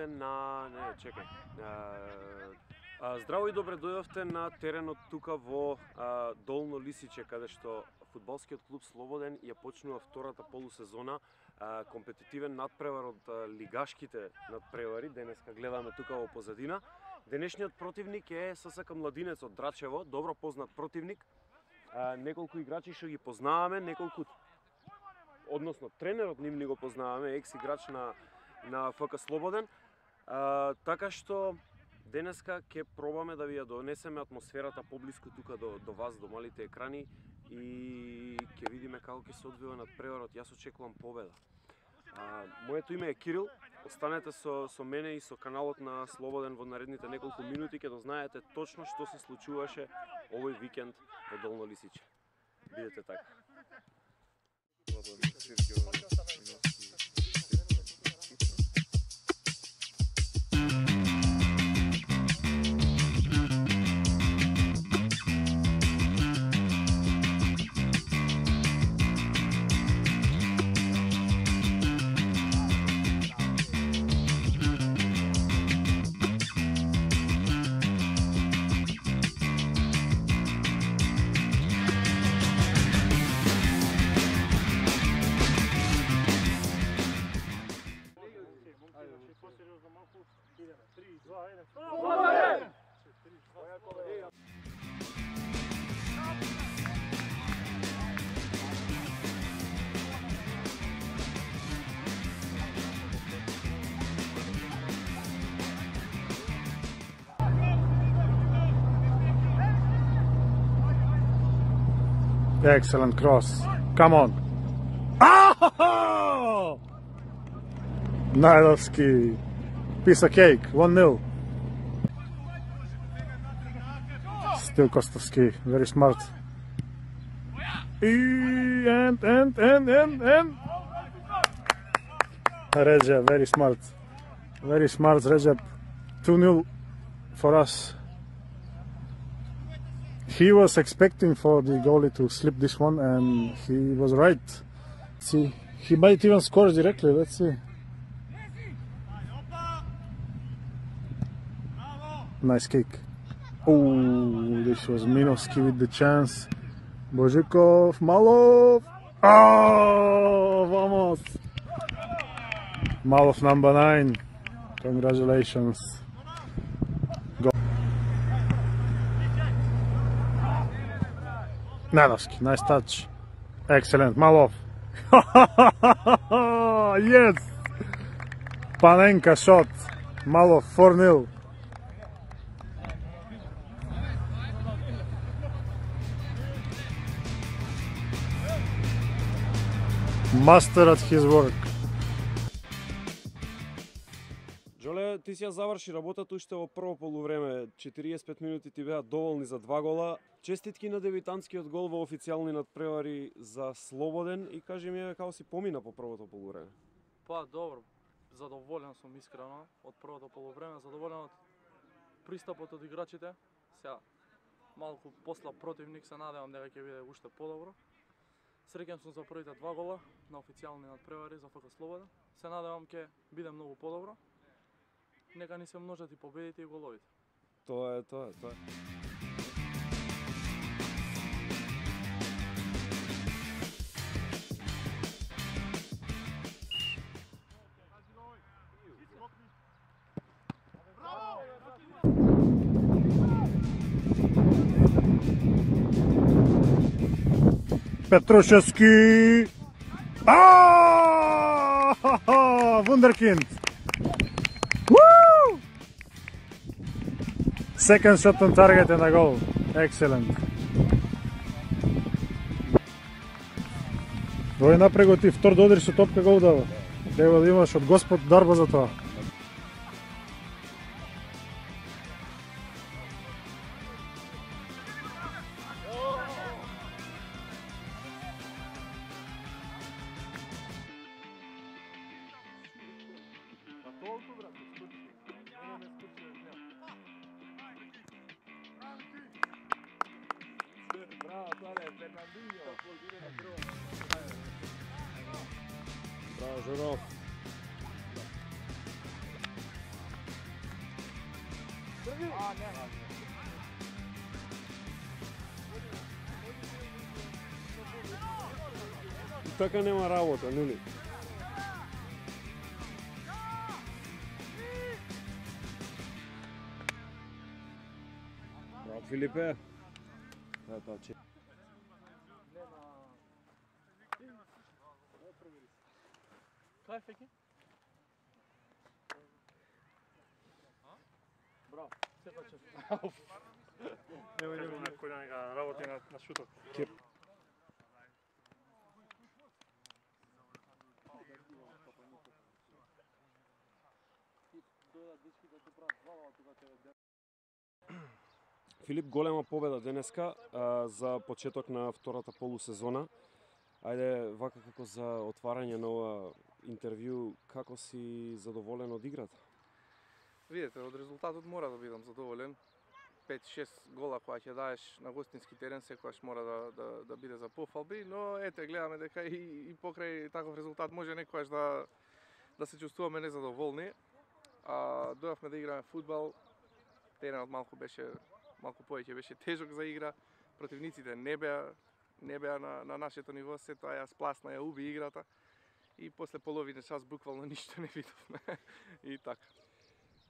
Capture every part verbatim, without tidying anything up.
дојдовте на... Не, чекај. А, здраво и добре дојдовте на теренот тука во а, Долно Лисиче, каде што фудбалскиот клуб Слободен ја почнува втората полусезона, а, компетитивен надпревар од а, лигашките надпревари. Денеска гледаме тука во позадина. Денешниот противник е ССК Младинец од Драчево, добро познат противник. А, неколку играчи што ги познаваме, неколку, односно тренерот ним ни го познаваме, екс играч на на ФК Слободен. А, така што денеска ќе пробаме да ви ја донесеме атмосферата поблиску тука до, до вас, до малите екрани, и ќе видиме како ќе се одвива надпреварот. Јас очекувам победа. А, моето име е Кирил. Останете со, со мене и со каналот на Слободен во наредните неколку минути, ќе дознаете точно што се случуваше овој викенд во Долно Лисиче. Бидете така. Excellent cross. Come on. Oh! Najlovski. Piece of cake. one nil. Still Kostovski. Very smart. And, and, and, and, and. Recep, very smart. Very smart, Recep. two nil for us. He was expecting for the goalie to slip this one, and he was right. See, he might even score directly. Let's see. Nice kick. Oh, this was Minovski with the chance. Bozhikov, Malov. Oh, vamos. Malov number nine. Congratulations. Nanovski, nice touch. Excellent, Malov. Yes! Panenka shot. Malov, four nil. Master at his work. Джоле, ти си ја заврши работата уште во прво полувреме. четириесет и пет минути ти беа доволни за два гола. Честитки на дебитантскиот гол во официјални надпревари за Слободен, и кажи ми како си помина по првото полувреме. Па добро, задоволен сум искрено од првото полувреме, задоволен од пристапот од играчите. Сега малку посла противник, се надевам дека ќе биде уште подобро. Среќен сум за првите два гола на официјални надпревари за ФК Слободен. Се надевам ќе биде многу подобро. Нека ни се множат и победите и головите. Тоа е, тоа е, тоа е. Petrusevski. Ah! Wunderkind. Woo! Second shot on target and a goal. Excellent. Вој напрего ти втор додри со топка гол дава. Треба да имаш од Господ дарба за тоа. Браво, Журов. Така нема работа, нели? Браво, Филипе. Да, тоа че. Кај Феки? Браво, сепа че. Немој немој некој да нека работи на, на шутот. Кеп. Филип, голема победа денеска а, за почеток на втората полусезона. Ајде, вака како за отварање на ова интервју, како си задоволен од играта? Видете, од резултатот мора да бидам задоволен. пет-шест гола која ќе даеш на гостински терен секогаш мора да, да, да биде за пофалби, но ете, гледаме дека и, и покрај таков резултат може некогаш да, да се чувствуваме незадоволни. А, дојавме да играме фудбал, теренот малку беше, малку повеќе беше тежок за игра, противниците не беа, не беа на, на нашето ниво, се тоа ја спласна, ја уби играта и после половина час буквално ништо не видовме и така.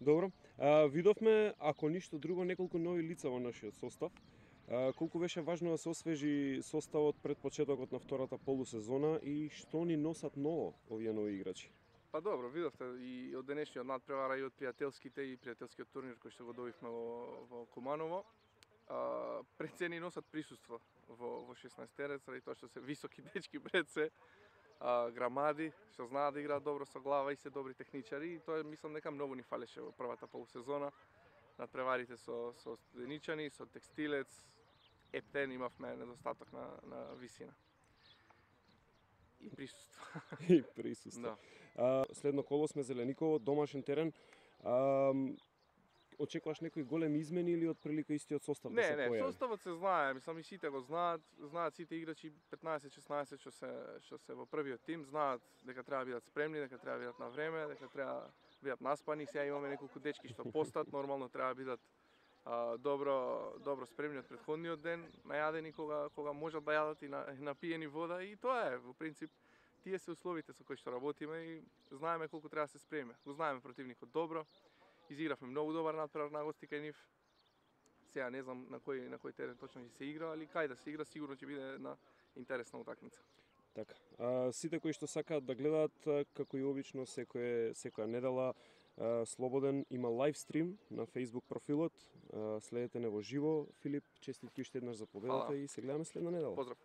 Добро. А, видовме, ако ништо друго, неколку нови лица во нашиот состав. А, колку беше важно да се освежи составот пред почетокот на втората полусезона и што ни носат ново овие нови играчи? Па добро, видовте и од денешниот надпревара и од пријателските и пријателскиот турнир кој што го добивме во, во Куманово. А, пред се ни носат присуство во, во шеснаестерец, заради тоа што се високи дечки пред се. А, грамади, што знаат да играат добро со глава и се добри техничари и тоа мислам дека многу ни фалеше во првата полусезона. Надпреварите со со Студеничани, со Текстилец, Ептен имавме недостаток на на висина. И присуство. И присуство. Да. А, следно коло сме Зелениково, домашен терен. А, очекуваш некои големи измени или од прилика истиот состав да Не, се не, појави? составот се знае, мислам и сите го знаат, знаат сите играчи петнаесет-шеснаесет што се што се во првиот тим, знаат дека треба да бидат спремни, дека треба да бидат на време, дека треба да бидат наспани. Сега имаме неколку дечки што постат, нормално треба да бидат а, добро добро спремни од претходниот ден, најадени кога кога можат да јадат и на, напиени вода и тоа е во принцип тие се условите со кои што работиме и знаеме колку треба да се спремиме. Го знаеме противникот добро. Изигравме многу добар надпревар на гости кај нив. Сега не знам на кој на кој терен точно ќе се игра, али кај да се игра сигурно ќе биде една интересна утакмица. Така. А, сите кои што сакаат да гледаат, како и обично секој секоја недела, а, слободен има лайв стрим на Facebook профилот. А, следете не во живо. Филип, честитки уште еднаш за победата Фала. и се гледаме следна недела. Поздрав.